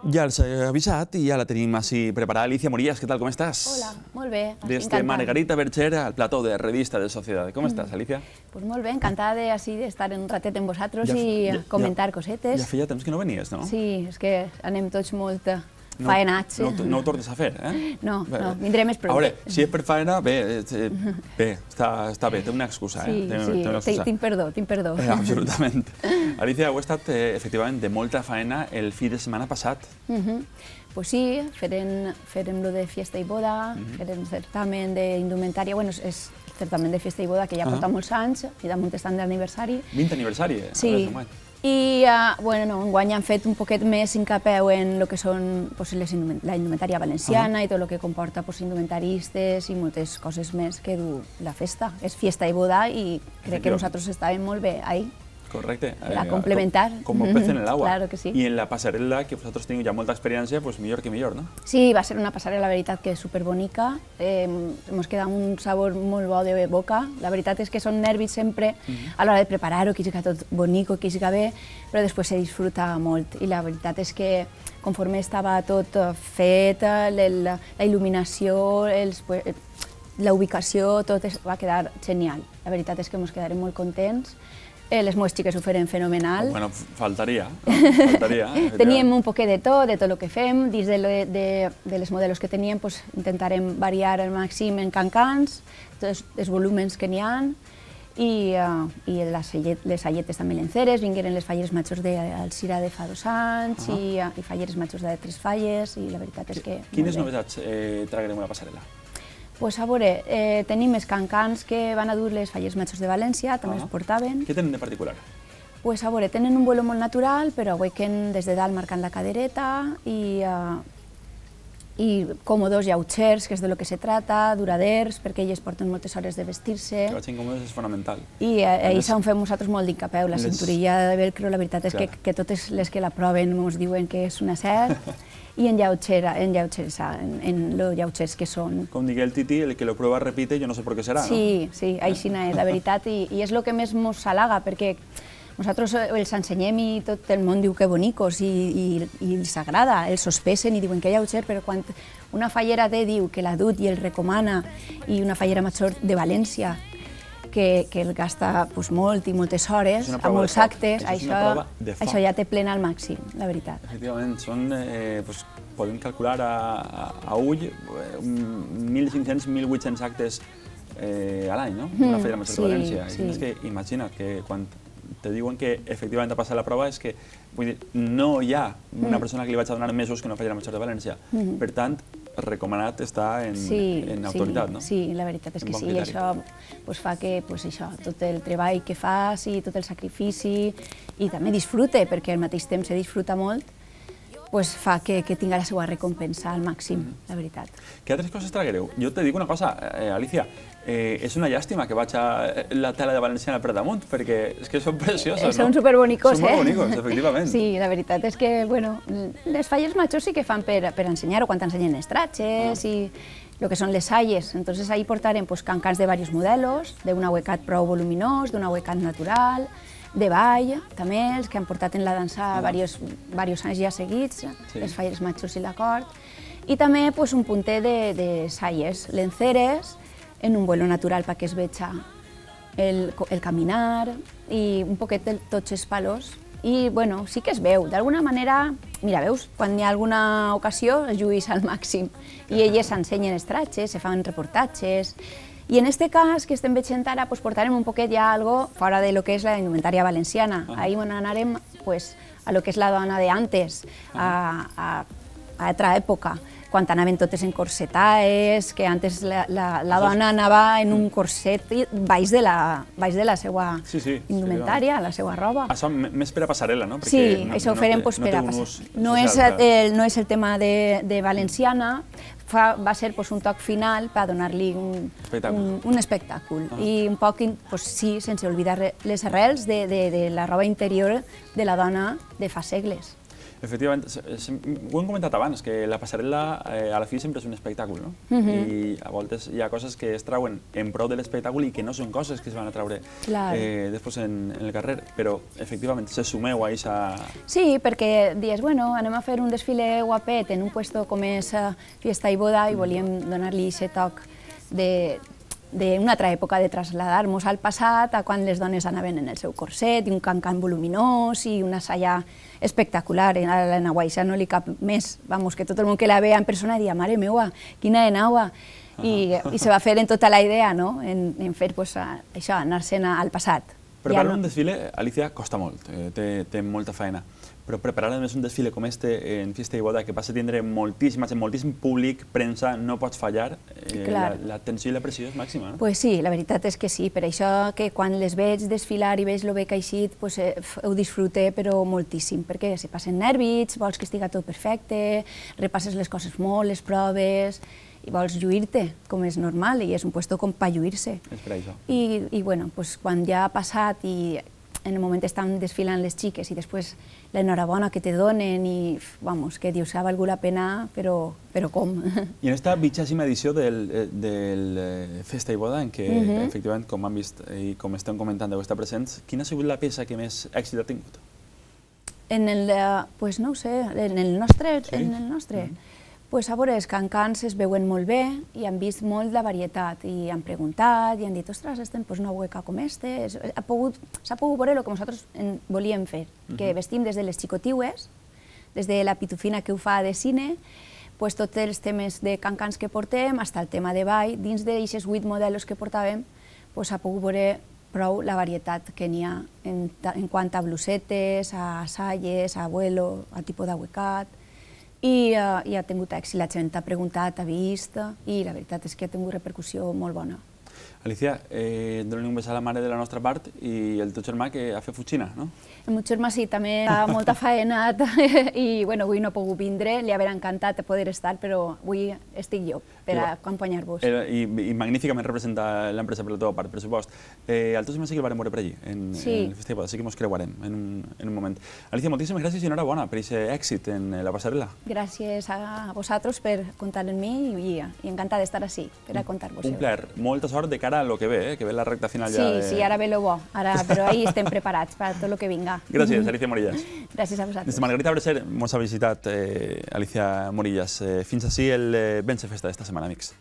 Ja els he avisat i ja la tenim així preparada. Alicia Morías, què tal, com estàs? Hola, molt bé, Des de encantada. Margarita Bercher al plató de Revista de Sociedad. Com estàs, Alicia? Pues molt bé, encantada de estar un ratet amb vosaltres i comentar cosetes. Ja feia temps que no venies, no? Sí, és que anem tots molt faenats. No ho tornes a fer, eh? No, vindré més prou. A veure, si és per faena, bé, està bé, té una excusa, eh? Sí, tinc perdó. Absolutament. Alicia, heu estat, efectivament, de molta faena el fi de setmana passat. Pues sí, farem lo de fiesta i boda, farem certamen d'indumentària, bueno, és certamen de fiesta i boda que ja porta molts anys i damunt estan d'aniversari. 20 aniversari, Sí. I, bueno, enguany han fet un poquet més hincapeu en el que són la indumentària valenciana i tot el que comporta indumentaristes i moltes coses més que du la festa. És fiesta i boda i crec que nosaltres estàvem molt bé ahí. Correcte. Per complementar. Com un pez en el agua. Claro que sí. I en la passarel·la, que vosaltres teniu ja molta experiència, doncs millor que millor, no? Sí, va ser una passarel·la, la veritat, que és superbonica. Ens queda un sabor molt bo de boca. La veritat és que són nervis sempre a l'hora de preparar-ho, que siga tot bonico, que siga bé, però després se disfruta molt. I la veritat és que conforme estava tot fet, la il·luminació, la ubicació, tot va quedar genial. La veritat és que ens quedarem molt contents. Les meves xiques ho feren fenomenal. Bueno, faltaria, no? Faltaria. Teníem un poquet de tot el que fem. Dins de les modelos que teníem, intentarem variar al màxim en cancans, tots els volúmens que n'hi ha, i les alletes també lenceres, vingueren les falleres majors d'Alcira de fa 2 anys i falleres majors de 3 falles, i la veritat és que... Quines novetats tragarem a la passarel·la? Pues a veure, tenim els cancans que van a dur les falleres majors de València, també els portaven. Què tenen de particular? Pues a veure, tenen un vuelo molt natural, però aguaiquen des de dalt marcant la cadereta i còmodos llautxers, que és de lo que se trata, duraders, perquè elles porten moltes hores de vestir-se. Que vagin còmodes és fonamental. I això ho fem nosaltres molt d'incapeu. La cinturilla de velcro, la veritat és que totes les que la proven ens diuen que és un acert. I en los llautxers que són. Com digui el Titi, el que lo prueba repite, jo no sé per què serà, no? Sí, així és, la veritat, i és el que més ens halaga, perquè nosaltres els ensenyem i tot el món diu que bonicos i els agrada, els sospesen i diuen que llautxer, però quan una fallera diu que l'ha dut i el recomana, i una fallera major de València, que el gasta molt i moltes hores, a molts actes, això ja té plena al màxim, la veritat. Efectivament, podem calcular a ull 1.500-1.800 actes a l'any, no? Una fallera major de València. És que imagina't que quan te diuen que efectivament ha passat la prova és que no hi ha una persona que li vaig a donar mesos que una fallera major de València. Per tant, recomanat està en autoritat, no? Sí, la veritat és que sí, i això fa que tot el treball que fas i tot el sacrifici i també disfrute, perquè al mateix temps se disfruta molt, fa que tinga la seva recompensa al màxim, la veritat. Què altres coses traguereu? Jo te dic una cosa, Alicia, és una llàstima que vaig a la tela de Valenciana per damunt, perquè és que són precioses, no? Són superbonicos, Són molt bonicos, efectivament. Sí, la veritat és que, bueno, les falles majors sí que fan per ensenyar-ho quan t'ensenyen les tratges i el que són les salles. Entonces ahí portarem cancans de diversos modelos, d'un ahuecat prou voluminós, d'un ahuecat natural, de ball, també, els que han portat en la dansa diversos anys ja seguits, les falleres majors i l'acord, i també un punter de salles lenceres en un vuelo natural perquè es veja el caminar i un poquet de tots els palos. I, bueno, sí que es veu. D'alguna manera, mira, veus, quan hi ha alguna ocasió es lluís al màxim i elles ensenyen els tratges, se fan reportatges. I en aquest cas que estem veient ara, portarem un poquet ja algo fora de lo que és la indumentària valenciana. Ahí anarem a lo que és la dona de antes, a altra època, quan anaven totes encorsetaes, que antes la dona anava en un corset baix de la seva indumentària, la seva roba. Això més per a passarel·la, no? Sí, això ho farem per a passarel·la. No és el tema de Valenciana, va ser un toc final per donar-li un espectacle. I un poc, sí, sense oblidar les arrels de la roba interior de la dona de fa segles. Efectivament, ho hem comentat abans, que la passarel·la a la fi sempre és un espectacle, no? I a voltes hi ha coses que es trauen en prou de l'espectacle i que no són coses que es van a traure després en el carrer, però efectivament se sumeu a aquesta... Sí, perquè dius, bueno, anem a fer un desfile guapet en un puesto com és Fiesta i Boda i volíem donar-li aquest toc d'una altra època, de traslladar-nos al passat, a quan les dones anaven en el seu corset, i un cancan voluminós, i una saia espectacular. A la Naguaixa no li cap més, vamos, que tot el món que la veia en persona dia, mare meua, quina de naua. I se va fer en tota la idea, no?, en fer això, anar-se'n al passat. Preparar un desfile, Alicia, costa molt, té molta feina, però preparar a més un desfile com este en Fiesta i Boda, que passa a tindre moltíssim públic, premsa, no pots fallar, la tensió i la pressió és màxima, no? Pues sí, la veritat és que sí, per això que quan les veig desfilar i veig el bé que ha eixit, ho disfrute però moltíssim, perquè se passen nervis, vols que estigui tot perfecte, repasses les coses molt, les proves, i vols lluir-te, com és normal, i és un puesto com per lluir-se. És per això. I bueno, quan ja ha passat i en el moment estan desfilant les xiques i després l'enhorabona que te donen i, vamos, que dius, ha valgut la pena, però com? I en aquesta 20ª edició del Festa i Boda, en què, efectivament, com han vist i com estem comentant, deu estar presents, quina ha sigut la peça que més èxit ha tingut? Pues no ho sé, en el nostre... Pues a veure, els cancans es veuen molt bé i han vist molt la varietat i han preguntat i han dit, ostres, estem una hueca com este. S'ha pogut veure el que nosaltres volíem fer, que vestim des de les xicotiues, des de la pitufina que ho fa de cine, tots els temes de cancans que portem, fins el tema de ball, dins d'aquests 8 modelos que portàvem, s'ha pogut veure prou la varietat que n'hi ha en quant a blusetes, a salles, a vuelo, a tipus d'ahuecat, i ha tingut èxit, la gent ha preguntat, ha vist, i la veritat és que ha tingut repercussió molt bona. Alicia, dona-li un bes a la mare de la nostra part i el teu germà que ha fet futxina, no? El meu germà sí, també ha molta faena i avui no ha pogut vindre, li hauria encantat poder estar, però avui estic jo per acompanyar-vos. I magníficament representa l'empresa per la teva part, per supost. El teu germà sí que el vam veure per allí, en el Festa i Boda, sí que ens creuarem en un moment. Alicia, moltíssimes gràcies i enhorabona per aquest èxit en la passarel·la. Gràcies a vosaltres per comptar en mi i encantada d'estar així, per a contar-vos. Un plaer, molta sort de cara a lo que ve la recta final ja de... Sí, ara ve lo bo, però ahí estem preparats per tot el que vinga. Gràcies, Alicia Morillas. Gràcies a vosaltres. Des de Margarita Breser mos ha visitat Alicia Morillas. Fins així el Vence Festa d'esta setmana, amics.